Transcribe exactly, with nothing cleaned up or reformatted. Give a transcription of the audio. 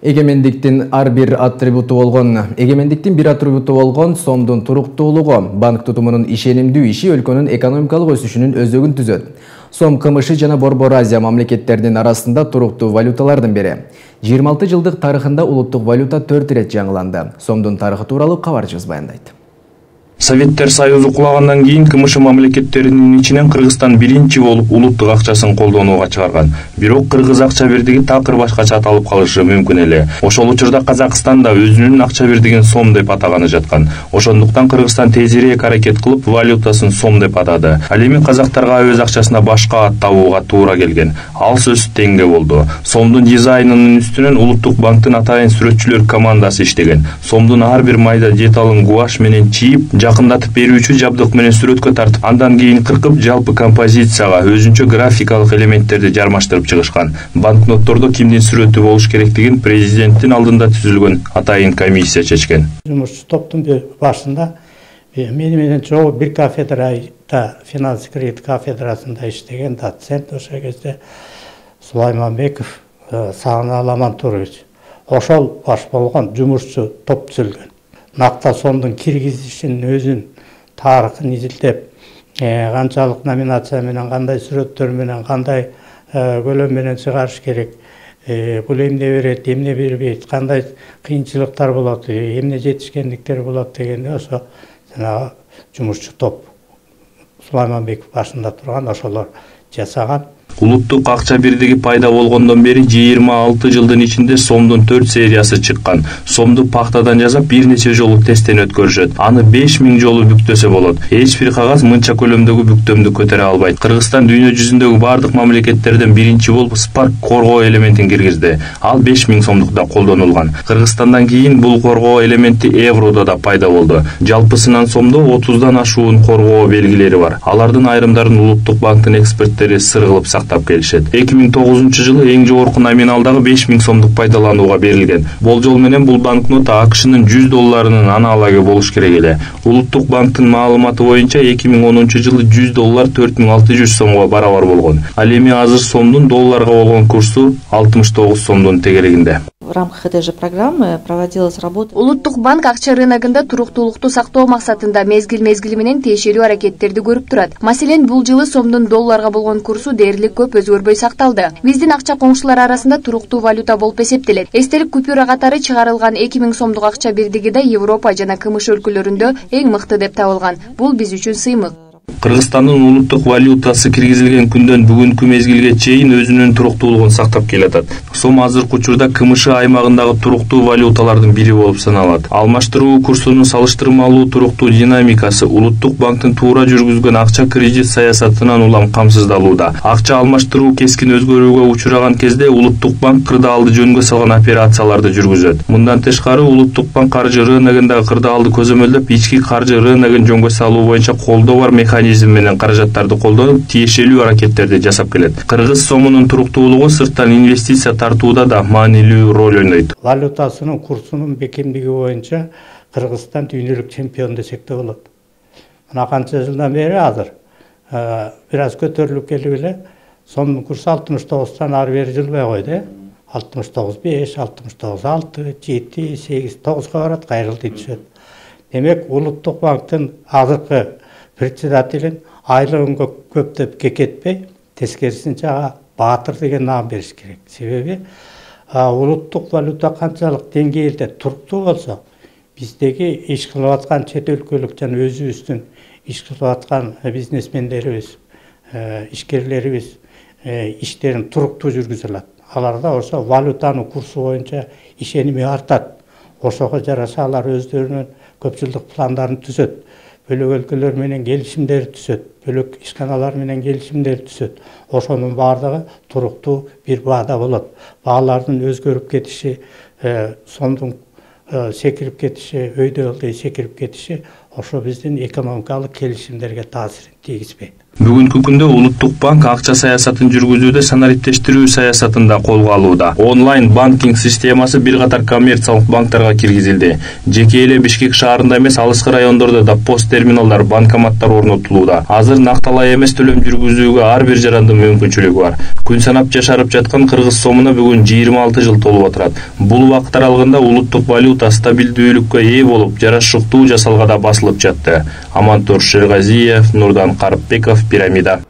Эгемендиктин ар бир атрибуту болгон, эгемендиктин бир атрибуту болгон сомдун туруктуулугу, банк тутумунун ишенимдүү иши өлкөнүн экономикалык өсүшүнүн өзөгүн түзөт. Сом КМШ жана Борбор Азия мамлекеттеринин арасында туруктуу валюталардын бири. жыйырма алты жылдык тарыхында улуттук валюта төрт ирет жаңыланды. Сомдун тарыхы тууралуу кабарчыбыз баяндайт. Советтер Союзу кулагандан кийин КМШ мамлекеттеринин ичинен Кыргызстан биринчи болуп улуттук акчасын колдонууга чыгарган. Бирок кыргыз акча бирдиги такыр башкача аталып калышы мүмкүн эле. Ошол учурда Казакстан да өзүнүн акча бирдигин сом деп атаганы жаткан. Ошондуктан Кыргызстан тезирээк аракет кылып валютасын сом деп атады. Ал эми казактарга өз акчасына башка ат табууга туура келген. Ал сөз теңге болду. Сомдун дизайнынын үстүнөн улуттук банктын атайын сүрөтчүлөр командасы иштеген. Сомдун ар бир майда деталын гуаш менен чийип, жакындатып берүүчү жабдык менен сүрөткө тартып, андан кийин кыркып жалпы композицияга өзүнчө графикалык элементтерди жармаштырып чыгышкан. Банкноттордо кимдин сүрөтү болуш керектигин президенттин алдында түзүлгөн атайын комиссия чечкен. Жумушчу топтун башында мени менен чогуу бир кафедрада, финанс кредит кафедрасында иштеген доцент ошол кезде Сулайманбеков Сагыналы Амантурович. Ошол баш болгон жумушчу топ түзүлгөн. Накта сомдун киргизишин өзүн тарыхын изилдеп, канчалык номинация менен, кандай сүрөттөр менен, кандай көлөм менен чыгарыш керек, бул эмне берет, эмне бербейт, кандай кыйынчылыктар болот, эмне жетишкендиктер болот дегенде ошо жанагы жумушчу топ Сулайманбеков башында турган ошолор жасаган. Улуттук акча бирдиги пайда болгондон бери жыйырма алты жылдын ичинде сомдун төрт сериясы чыккан. Сомду пахтадан жасап бир нече жолу тесттен өткөрүшөт. Аны беш миң жолу бүктөсө болот. Эч бир кагаз мынча көлөмдөгү бүктөмдү көтөрө албайт. Кыргызстан дүйнө жүзүндөгү бардык мамлекеттерден биринчи болуп Спарк коргоо элементин киргизди. Ал беш миң сомдукта колдонулган. Кыргызстандан кийин бул коргоо элементи еврода да пайда болду. Жалпысынан сомдо отуздан ашуун коргоо белгилери бар. Алардын айрымдарын улуттук банктын эксперттери сыр кылып сактап келишет. эки миң тогузунчу жылы эң жогорку номиналдагы беш миң сомдук пайдаланууга берилген. Болжол менен бул банкнота АКШнын жүз долларынын аналогу болуш керек эле. Улуттук банктын маалыматы боюнча эки миң онунчу жылы жүз доллар төрт миң алты жүз сомго барабар болгон. Ал эми азыр сомдун долларга болгон курсу алтымыш тогуз сомдун тегерегинде. В рамках этой же программы проводилась работа. Улуттук банк акча рыногунда туруктуулукту сактоо максатында мезгил-мезгили менен тиешелүү аракеттерди көрүп турат. Маселен, бул жылы сомдун долларга болгон курсу дээрлик көп өзгөрбөй сакталды. Биздин акча коңшулар арасында туруктуу валюта болуп эсептелет. Эстелик купюра катары чыгарылган эки миң сомдук акча бирдиги да Европа жана КМШ өлкөлөрүндө эң мыкты деп табылган. Бул биз үчүн сыймык. Кыргызстандын улуттук валютасы киргизилген күндөн бүгүнкү мезгилге чейин өзүнүн туруктуулугун сактап келатат. Сом азыркы учурда КМШ аймагындагы туруктуу валюталардын бири болуп саналат. Алмаштыруу курсунун салыштырмалуу туруктуу динамикасы улуттук банктын туура жүргүзгөн акча кредит саясатынан улам камсыздалууда. Акча алмаштыруу кескин өзгөрүүгө учураган кезде улуттук банк кырдаалды жөнгө салган операцияларды жүргүзөт. Мындан тышкары улуттук банк каржы рыногундагы кырдаалды көзөмөлдөп, ички каржы рыногун жөнгө салуу боюнча колдоо бар механизм менен каражаттарды колдонуп, тиешелүү аракеттерди жасап келет. Кыргыз сомунун туруктуулугу сырттан инвестиция тартууда да маанилүү роль ойнойт. Валютасынын курсунун бекемдиги боюнча Кыргызстан дүйнөлүк чемпион десек да болот. Мына канча жылдан бери азыр бир аз көтөрүлүп келип эле, сомдун курсу алтымыш тогуздан ары бери жылбай койду. алтымыш тогуз беш, алтымыш тогуз алты, жети, сегиз, тогузга барат, кайрылтый түшөт. Демек, улуттук банктын азыркы председателин айлыгын көптөп кекетпей, тескерисинче баатыр деген наам бериш керек. Себеби улуттук валюта канчалык деңгээлде туруктуу болсо, биздеги иш кылып аткан чет өлкөлүк жана өзүбүздүн иш кылып аткан бизнесмендерибиз, ишкерлерибиз иштерин туруктуу жүргүзө алат. Аларда ошо валютанын курсу боюнча ишеними артат. Ошого жараша алар өздөрүнүн көп жылдык пландарын түзөт. Бөлөк өлкөлөр менен келишимдер түзөт, бөлөк ишканалар менен келишимдер түзөт. Ошонун баардыгы туруктуу бир баада болот. Баалардын өзгөрүп кетиши, сомдун секирип кетиши, өйдө ылдый секирип кетиши ошо биздин экономикалык келишимдерге таасирин тийгизбейт. Бүгүнкү күндө улуттук банк акча саясатын жүргүзүүдө санариптештирүү саясатын да колго алууда. Онлайн банкинг системасы бир катар коммерциялык банктарга киргизилди. Жеке эле Бишкек шаарында эмес, алыскы райондордо да пост терминалдар, банкоматтар орнотулууда. Азыр накталай эмес төлөм жүргүзүүгө ар бир жарандын мүмкүнчүлүгү бар. Күн санап жашарып жаткан кыргыз сомуна бүгүн жыйырма алты жыл толуп отурат. Бул убакыт аралыгында улуттук валюта стабилдүүлүккө ээ болуп, жарашыктуу жасалгада басылып жатты. Амантур Шергазиев, Нурдан Карпбеков, Пирамида.